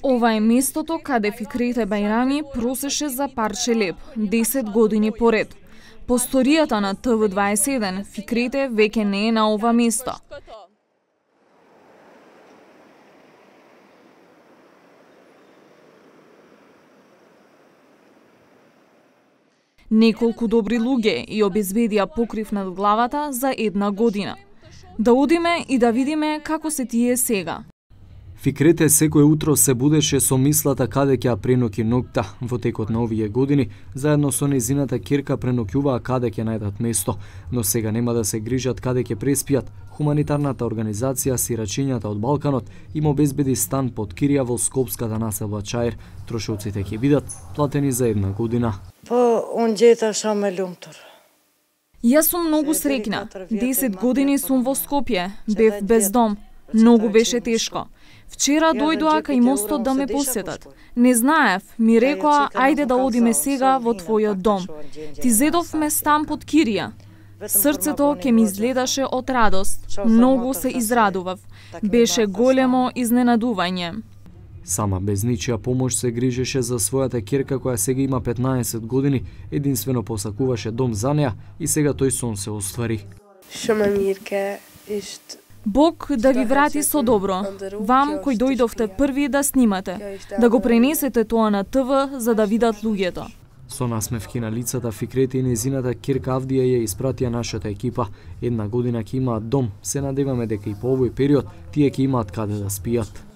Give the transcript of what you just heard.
Ова е местото каде Фикрете Бајрами просеше за парче леб 10 години поред. По сторијата на ТВ21, Фикрете веќе не е на ова место. Неколку добри луѓе и обезбедија покрив над главата за 1 година. Да одиме и да видиме како се тие сега. Фикрете секој утро се будеше со мислата каде ќе ја преноќи ноќта. Во текот на овие години, заедно со незината ќерка преноќуваа каде ќе најдат место, но сега нема да се грижат каде ќе преспијат. Хуманитарната организација Сирачињата од Балканот им обезбеди стан под кирија во скопската населба Чаир. Трошоците ќе бидат платени за 1 година. Јас сум многу среќна. 10 години сум во Скопје, бев без дом. Многу беше тешко. Вчера дојдоа кај мостот да ме посетат. Не знаев, ми рекоа, ајде да одиме сега во твојот дом. Ти зедовме стан под кирија. Срцето ке ми изгледаше од радост. Многу се израдував. Беше големо изненадување. Сама без ничија помош се грижеше за својата ќерка која сега има 15 години, единствено посакуваше дом за неа и сега тој сон се оствари. Бог да ви врати со добро. Вам кој дојдовте први да снимате, да го пренесете тоа на ТВ за да видат луѓето. Со насмевки на лицата Фикрете и незината ќерка Авдија ја испратија нашата екипа. 1 година ќе имаат дом. Се надеваме дека и по овој период тие ќе имаат каде да спијат.